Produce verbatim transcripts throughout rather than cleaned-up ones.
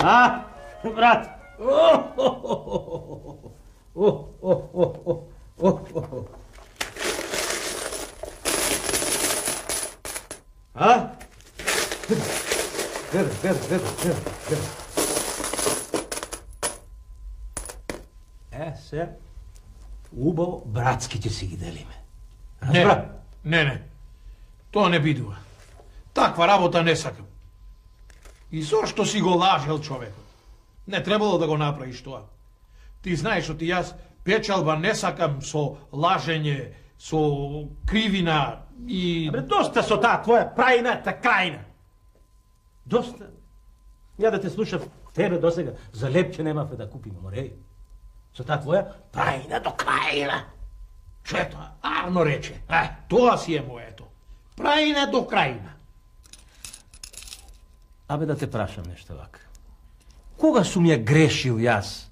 А, брат? О, о, о, о, о. А? Гледай, гледай, гледай, гледай. Е, се, убаво братски ќе си ги делиме. Разбра? Не, не, не. Тоа не бидува. Таква работа не сакам. И зошто си го лажел човекот? Не требало да го направиш тоа. Ти знаеш што ти јас печалба не сакам со лажење, со кривина и... Абе, доста со таа твоја прајната крајна. Доста. Ја да те слушав тебе досега, за лепче немавме да купиме, мореј. Со таа твоја прајна до крајна. Што е тоа? Арно рече. Е, тоа си е моето. Прајна до крајна. Абе, да те прашам нешто вака. Кога сум ја грешил јас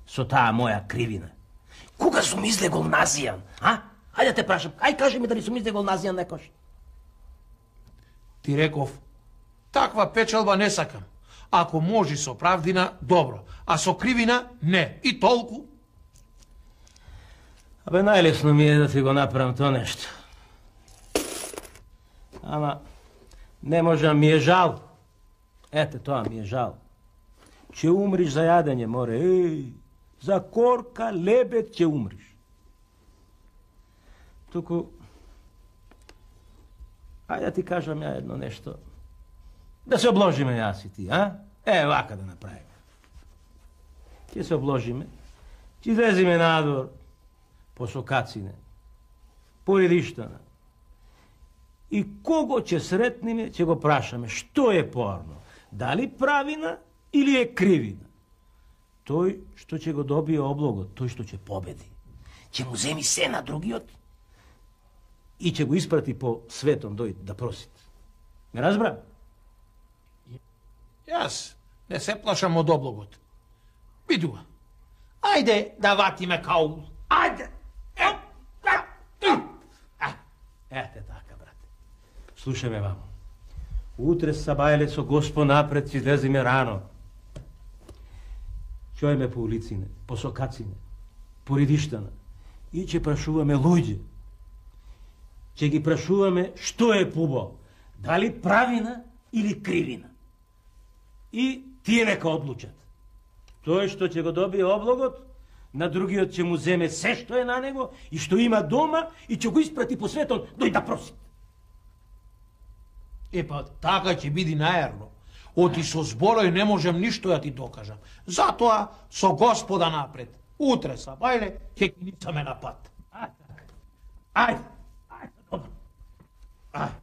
со таа моја кривина? Кога сум излегол назијан, а? Ајде да те прашам, ај кажи ми дали сум излегол назијан некош. Ти реков, таква печалба не сакам. Ако можи со правдина, добро. А со кривина, не. И толку. Абе, најлесно ми е да ти го направам тоа нешто. Ама, не можам, ми е жал. Ете, тоа ми е жал. Ќе умриш за јадење, море. Еј, за корка лебед ќе умриш. Туку, ајде да ти кажам ја едно нешто. Да се обложиме јас и ти, а? Е, вака да направиме. Ќе се обложиме, ќе излезиме надвор, по сокацине, по редиштана. И кого ќе сретниме, ќе го прашаме што е порно. Дали правина или е кривина? Тој што ќе го добие облогот, тој што ќе победи, ќе му земи се на другиот и ќе го испрати по светом дојд да просит. Ме разбра? Јас не се плашам од облогот. Бидува. Ајде да ватиме каул. Ајде. Ете така, брате. Слушај ме вамо. Утре сабајле со Госпо напред ќе излеземе рано. Чојме по улицине, по сокацине, по редиштана и ќе прашуваме луѓе. Ќе ги прашуваме што е пубо, дали правина или кривина. И тие нека одлучат. Тој што ќе го добие облогот, на другиот ќе му земе се што е на него и што има дома и ќе го испрати по светот дој да проси. Епа, така ќе биде наерно. Оти со зборој не можем ништо да ти докажам. Затоа со Господа напред. Утре сабајле ќе ги ницаме на пат. Ајде, ајде, ајде, добро. Ајде.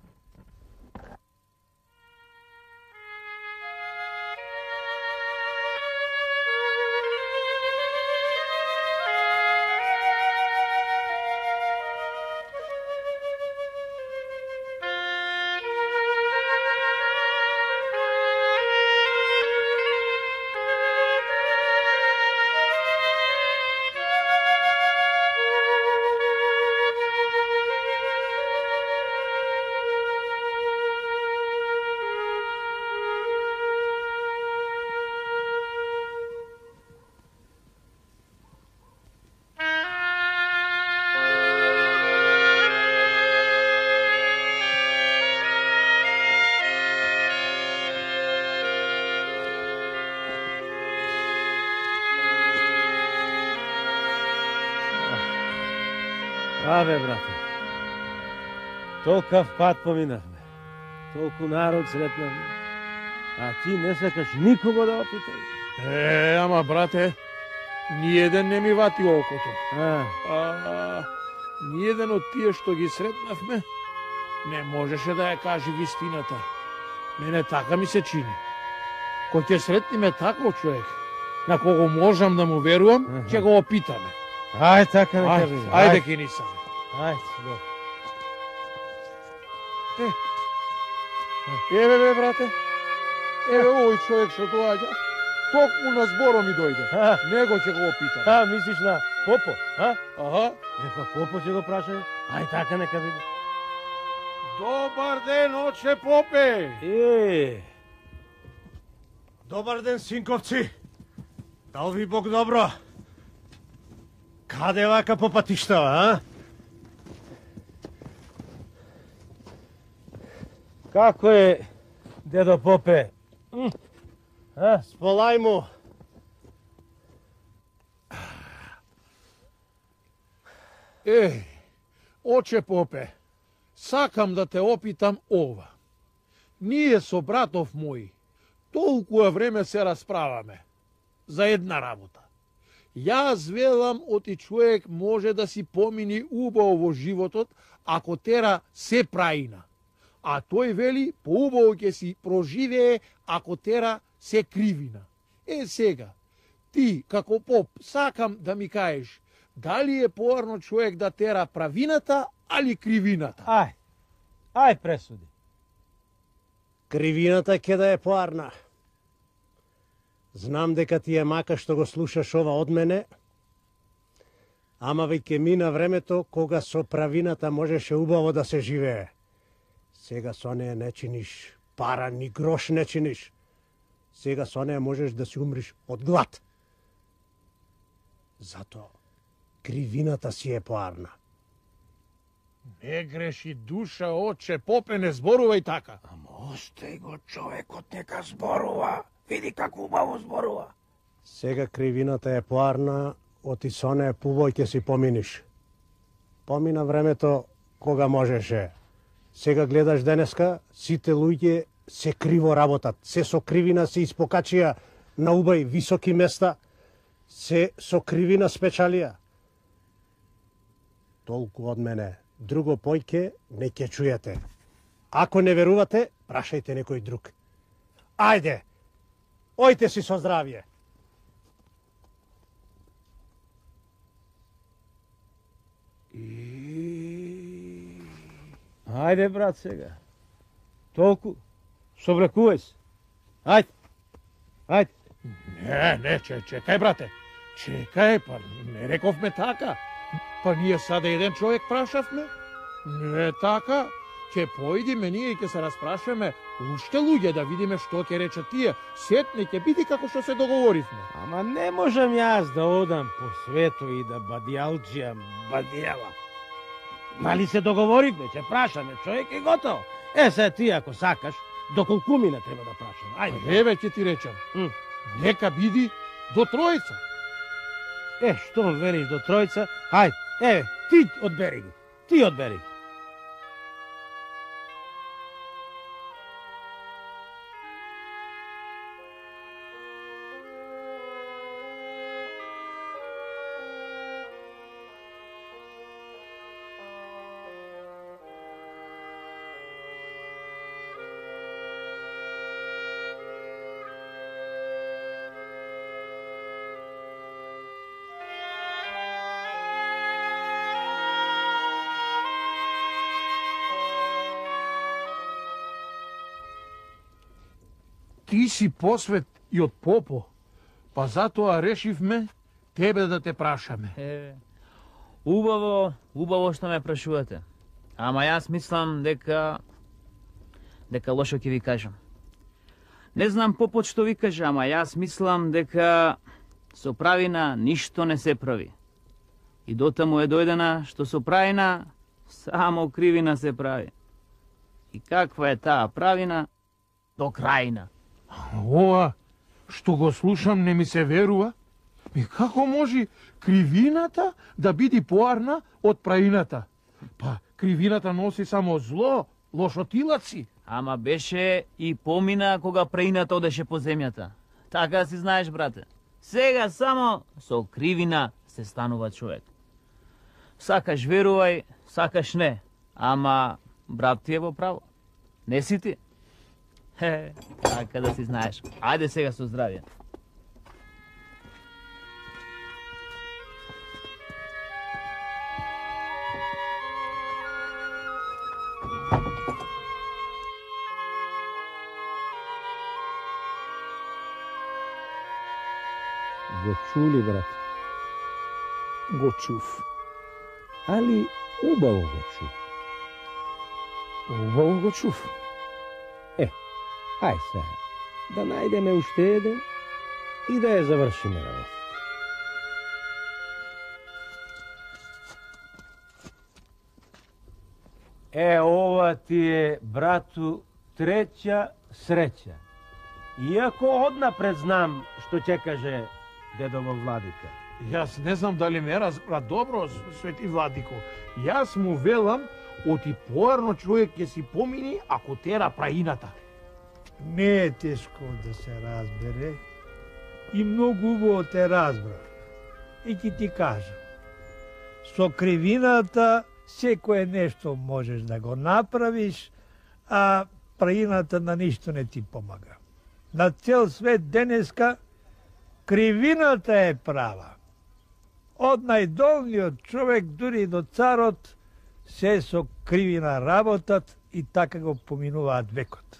Абе, брате, толкав пат поминавме, толку народ сретнавме, а ти не сакаш никого да опиташ. Е, ама, брате, ниеден не ми вати окото. А, А, ниеден од тие што ги сретнавме, не можеше да ја каже вистината. Мене така ми се чини. Кој ќе сретниме таков човек, на кого можам да му верувам, ќе го опитаме. ај, така не Ајде, кажи. ајде ке нисаме. Ајде, добро. Е, еве бе, брате, еве овој човек што доаѓа, токму на зборо ми дојде. А, Него ќе го опитам. а, мислиш на Попо, а? Аха. Епа, Попо ќе го прашаме. Ај, така нека биде. Добар ден, оче Попе. Е, Добар ден, синковци. Дал ви Бог добро. Каде вака по патиштава, а? Како е, дедо Попе? А, сполај му. Еј, оче Попе, сакам да те опитам ова. Ние со братов мој толкува време се расправаме за една работа. Јас велам оти човек може да си помини убаво во животот ако тера се праина. А тој вели поубаво ќе си проживее ако тера се кривина. Е сега, ти како поп сакам да ми кажеш дали е поарно човек да тера правината али кривината? Ај, ај пресуди. Кривината ќе да е поарна. Знам дека ти е мака што го слушаш ова од мене, ама веќе мина времето кога со правината можеше убаво да се живее. Сега со неја не чиниш пара, ни грош не чиниш. Сега со неја можеш да си умриш од глад. Зато кривината си е поарна. Не греши душа, оче Попе, не зборувај така. Ама остај го човекот, нека зборува. Види како убаво зборува. Сега кривината е поарна, оти со неја пубој ќе си поминиш. Помина времето кога можеше. Сега гледаш денеска, сите луѓе се криво работат. Се со кривина се испокачија на убај високи места, се со кривина спечалија. Толку од мене. Друго појке не ќе чујете. Ако не верувате, прашајте некој друг. Ајде, ојте си со здравје. Ајде, брат, сега. Толку. Собрекувај се. Ајде. Ајде. Не, не, че, чекај, брате. Чекај, па не рековме така. Па ние сада еден човек прашавме. Не така. Ќе поидиме ние и ќе се распрашаме уште луѓе да видиме што ќе речат тие. Сетне ќе биде како што се договоривме. Ама не можам јас да одам по свету и да бадијалџијам бадијала. Нали се договоривме, ќе прашаме човек и готово. Е, се ти ако сакаш, до колку мина треба да прашаме. Ајде. Еве ќе ти речам. М. Нека биди до тројца. Е, што велиш до тројца? Ајде, еве, ти одбери ги. Ти одбери ги. Ти си посвет и од попо, па затоа решивме тебе да те прашаме. Е, убаво, убаво што ме прашувате. Ама јас мислам дека дека лошо ќе ви кажам. Не знам попот што ви кажа, ама јас мислам дека со правина ништо не се прави. И дотаму е дојдена што со правина само кривина се прави. И каква е таа правина до крајна. Ова што го слушам не ми се верува. И како може кривината да биде поарна од праината? Па кривината носи само зло, лошотилаци. Ама беше и помина кога праината одеше по земјата. Така си знаеш, брате. Сега само со кривина се станува човек. Сакаш верувај, сакаш не. Ама брат ти е во право. Не си ти? Хе, така да си знаеш. Ајде сега со здравје. Го чули, брат? Го чув. Али убаво го чу. Убаво го чув. Ај сега, да најдеме уште еден и да ја завршиме работа. Е, ова ти е, брату, треќа среќа. Иако однапред знам што ќе каже дедово владика. Јас не знам дали ме разбра добро, свети владико. Јас му велам, оти поарно човек ќе си помини ако тера праината. Не е тешко да се разбере и многу убаво те разбра. И ќе ти кажам, со кривината секое нешто можеш да го направиш, а праината на ништо не ти помага. На цел свет денеска кривината е права. Од најдолниот човек дури до царот се со кривина работат и така го поминуваат векот.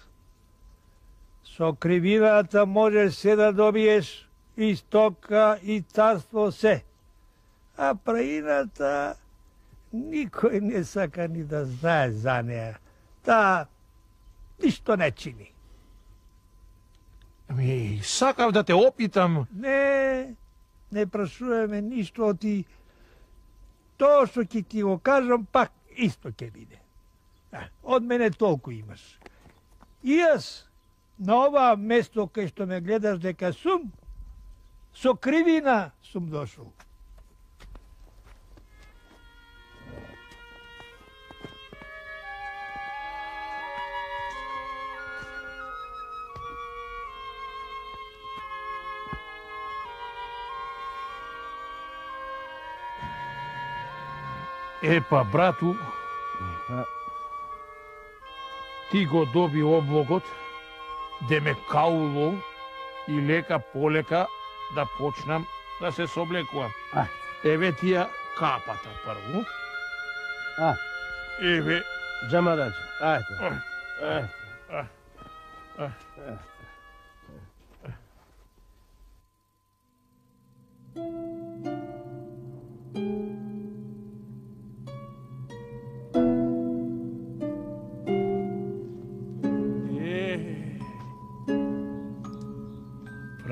Со кривината можеш се да добиеш и стока, и царство се. А праината никој не сака ни да знае за неа. Таа ништо не чини. Ами, сакав да те опитам. Не, не прашуваме ништо од ти. Тоа што ќе ти го кажам, пак исто ќе биде. А, од мене толку имаш. И јас, на ова место кај што ме гледаш дека сум, со кривина сум дошол. Епа, брату, ти го доби облогот, де ме кауло и лека полека да почнам да се соблекувам. А. Еве тија капата прво. А. Еве. Джамараджа, ајде. А. А. А.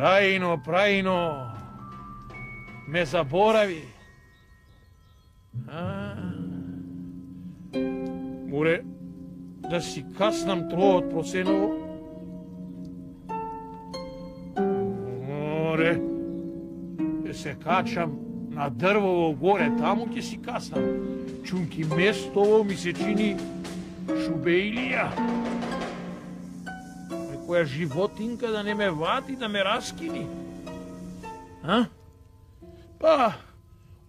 Праино, праино, ме заборави. А, море да си каснам троот просеново. Море да се качам на дрвово горе, таму ќе си каснам. Чунки местово ми се чини шубеилија. Која животинка да не ме вати, да ме раскини. А? Па,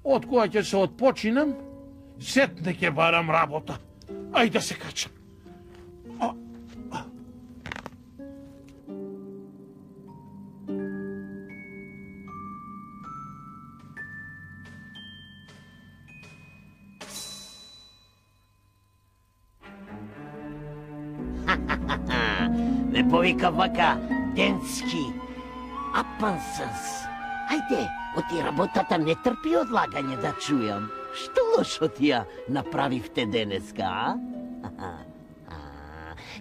од која ќе се отпочинам, сетне ќе барам работа. Ајде да се качам. А, а. Ме повика вака Денски, апансас. Ајде, оти работата не трпи одлагање да чујам. Што лошо ти ја направивте денеска, а? а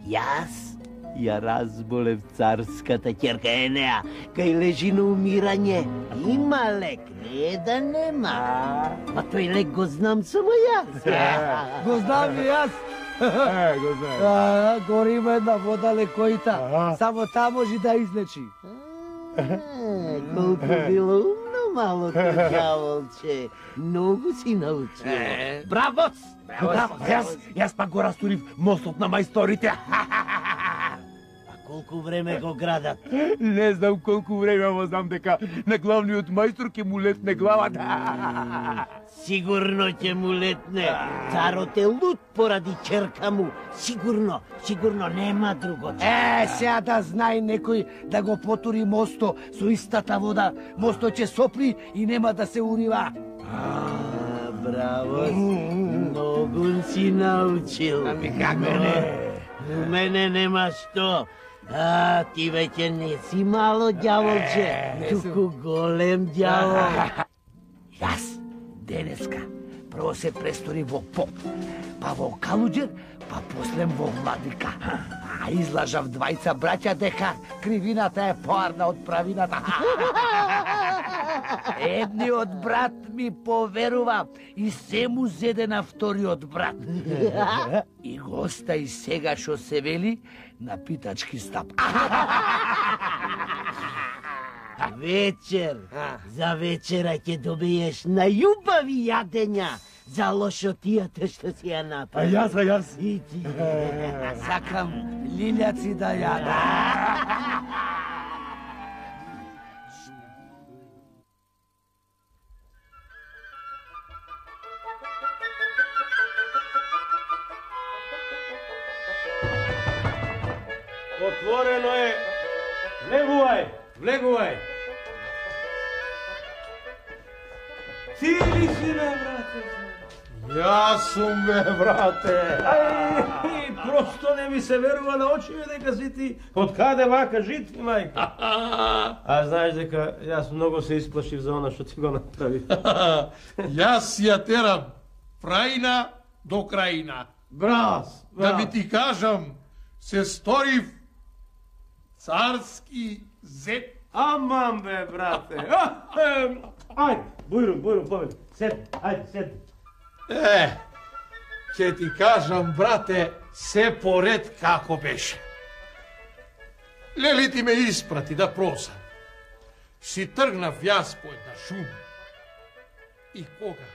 јас ја разболев царската ќерка Енеа, кај лежи на умирање. Има лек, не да нема. Па тој лек го знам само јас. Го знам и јас. Е, го знаеш. А, гори има една вода лекојта. Само таа може да излечи. Колку било умно малото ѓаволче. Многу си научил. Бравоц! Браво, јас, јас пак го растурив мостот на мајсторите. Колку време го градат? Не знам колку време, ама знам дека на главниот мајстор ќе му летне главата. Сигурно ќе му летне. Царот е лут поради ќерка му. Сигурно, сигурно нема друго. Е, сега да знае некој да го потури мосто со истата вода. Мосто ќе сопри и нема да се урива. А, браво, многу си научил. Ами како не? У мене нема што. А, ти веќе не си мало ѓаволче, туку голем ѓавол. Јас денеска Прво се престори во поп, па во калуџер, па после во владика. А излажав двајца браќа дека кривината е поарна од правината. Едниот брат ми поверува и се му зеде на вториот брат. И го остави сега што се вели на питачки стап. Вечер, за вечера ќе добиеш најубави јадења за лошотијата што си ја направи. А јас, а јас? И ти. Сакам лилјаци да јадам. Отворено е. Влегувај, влегувај. Ти ли си, бе, брате? Јас сум, бе, брате. Ај, просто не ми се верува на очиме дека си ти. Од каде вака жит, мајка? А знаеш дека јас многу се исплашив за она што ти го направи. Јас ја терам прајна до крајна. Брас, Да ви ти кажам, се сторив царски зет. Аман, бе, брате. Ајде, бујрум, бујрум, повеќе. Седни, ајде, седни. Е, ќе ти кажам, брате, се поред како беше. Лели ти ме испрати да просам. Си тргнав јас по една шума. И кога?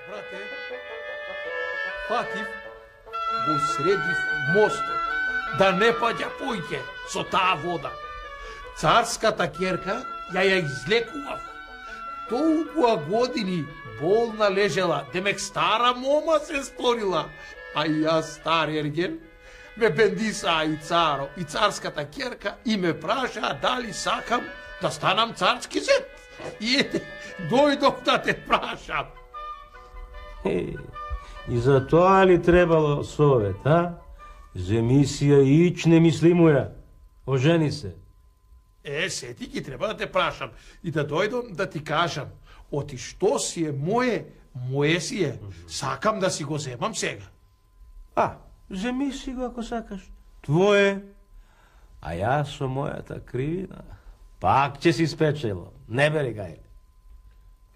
Брате, фатив, го средив мостот, да не паѓа појќе со таа вода. Царската ќерка ја ја излекував. Толкова години болна лежела, демек стара мома се створила, а јас стар ерген, ме бендисаа и царо, и царската ќерка и ме прашаа дали сакам да станам царски зет. И ете, дојдов да те прашам. Е, и за тоа ли требало совет, а? Земи си ја ич немислимуја. Ожени се. Е, сети ги треба да те прашам и да дојдам да ти кажам, оти што си е моje, моje си е. Сакам да си го земам сега. А, земи си го ако сакаш. Твое. А јас со мојата кривина пак ќе си спечело. Не бери гајле.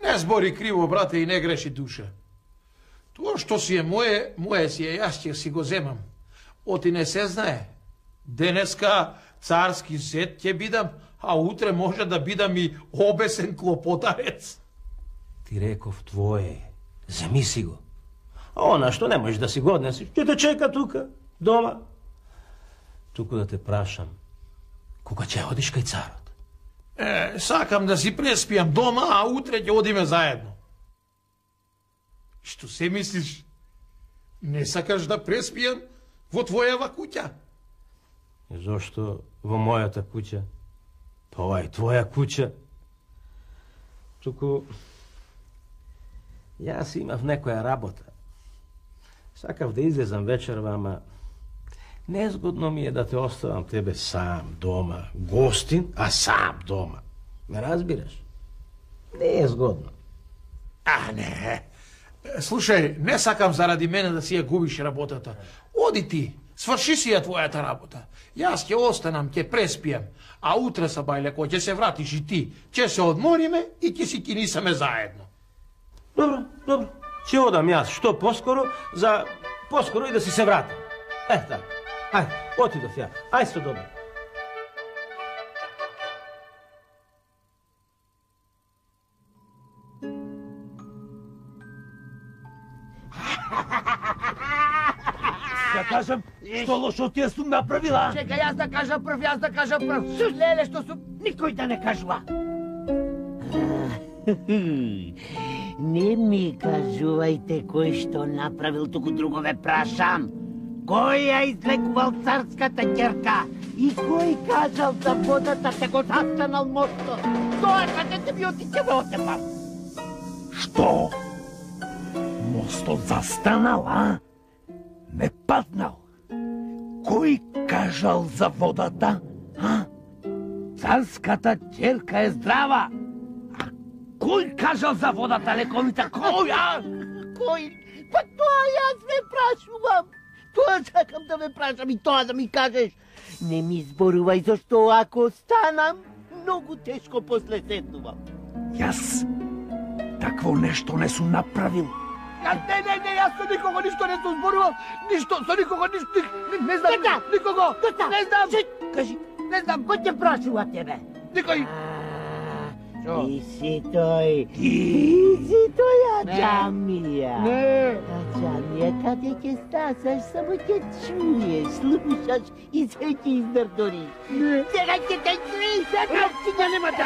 Не збори криво, брате, и не греши душа. Тоа што си е моje, моje си е, јас ќе си го земам. Оти не се знае. Денеска царски зет ќе бидам, а утре може да бидам и обесен клопотарец. Ти реков твое. Земи си го. А она што не можеш да си го однесиш, ќе те чека тука, дома. Туку да те прашам, кога ќе одиш кај царот? Е, сакам да си преспијам дома, а утре ќе одиме заедно. Што се мислиш? Не сакаш да преспијам во твојава куќа? И зошто во мојата куќа? Па ова е твоја куќа. Туку јас имав некоја работа. Сакав да излезам вечерва, ама незгодно ми е да те оставам тебе сам дома, гостин, а сам дома. Ме разбираш? Не е згодно. А, не. Слушај, не сакам заради мене да си ја губиш работата. Оди ти, сврши си ја твојата работа. Јас ќе останам, ќе преспијам, а утре са бајлеко ќе се вратиш и ти. Ќе се одмориме и ќе си кинисаме заедно. Добро, добро. Ќе одам јас што поскоро, за поскоро и да си се вратам. Е, така. Ајде, отидов ја. Ајде се добро. Да кажам, што лошо ти сум направила? Чекај, јас да кажам прв, јас да кажам прв. Леле, што сум, никој да не кажува. Не ми кажувајте кој што направил, туку друго ве прашам. Кој ја излекувал царската ќерка? И кој кажал за водата те го застанал мостот? Тоа кажете ми, отиќе ве отепам. Што? Мостот застанал, а? Ме паднал. Кој кажал за водата, а? Царската ќерка е здрава. А кој кажал за водата, лековита? Кој, а? Кој? Па тоа јас ве прашувам. Тоа сакам да ве прашам и тоа да ми кажеш. Не ми зборувај, зашто ако станам, многу тешко после седнувам. Јас такво нешто не сум направил. Ја, не, не, не, јас со никого ништо не сум зборувал, ништо, со никого ништо, не, не знам, Доста! никого, Доста! не знам, Шит! кажи, не знам, Кој те прашува тебе? никој. А, Ти си тој. Ти си тој Аџамија. Не. Аџамија, каде ќе стасаш, само ќе чуеш, слушаш и се ќе издрдориш. Сега ќе те чуи, сега ќе ја нема да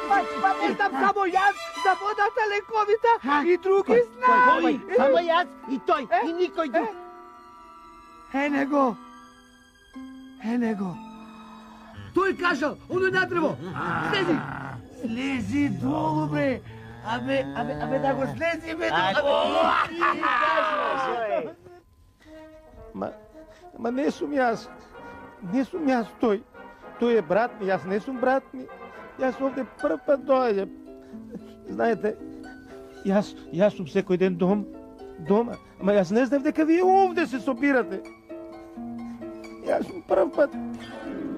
Па не знам само јас, за водата лековита и други Кој? знај. Само јас и тој, и никој друг. Е него. Е него. Тој кажал, оној надрево. Слези. Слези долу, бре. Абе, абе, абе да го слези, бе. Ма, ма не сум јас. Не сум јас тој. Тој е брат ми, јас не сум брат ми. Јас овде прв пат доаѓам. Знаете, јас, јас сум секој ден дом, дома. Ама јас не знам дека вие овде се собирате. Јас сум прв пат.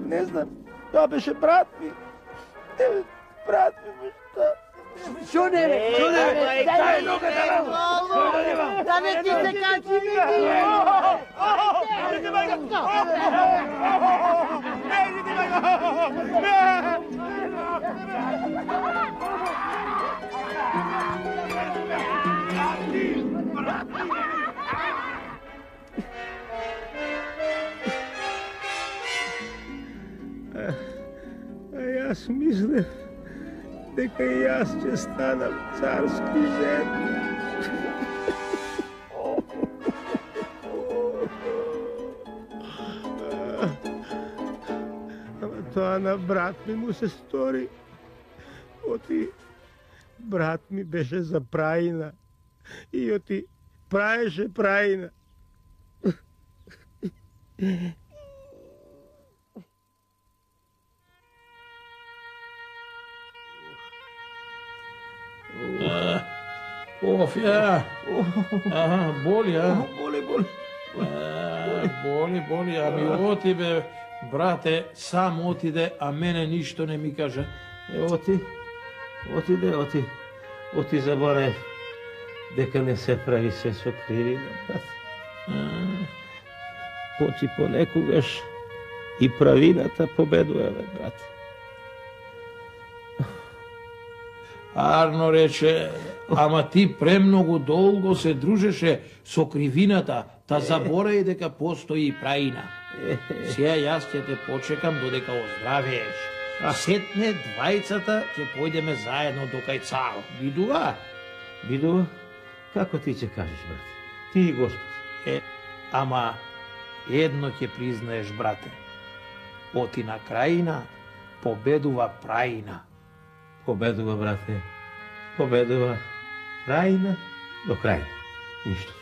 Не знам. Тоа беше брат ми. Не, брат ми, бе, што? Шо не, бе, шо не, бе. Дај ногата на да не ти се качи, види. А јас мислев дека и јас ќе станам царски зет. Ама тоа на брат ми му се стори. Оти брат ми беше за праина и оти праеше праина. Оф, ја. Аха, боли, а? Боли, боли. А, боли, боли, ами оти бе, брате, сам отиде, а мене ништо не ми кажа. Е, оти, отиде, оти, оти заборев дека не се прави се со кривина, брат. Оти понекогаш и правината победува, бе, брат. Арно рече, ама ти премногу долго се дружеше со кривината, та заборај дека постои и праина. Сега јас ќе те почекам додека оздравееш. А сетне двајцата ќе појдеме заедно до кај царот. Бидува? Бидува? Како ти ќе кажеш, брат? Ти и Господ. Е, ама едно ќе признаеш, брате. Оти на крајина победува праина. Победува, брате. Победува праина до крај. Ништо.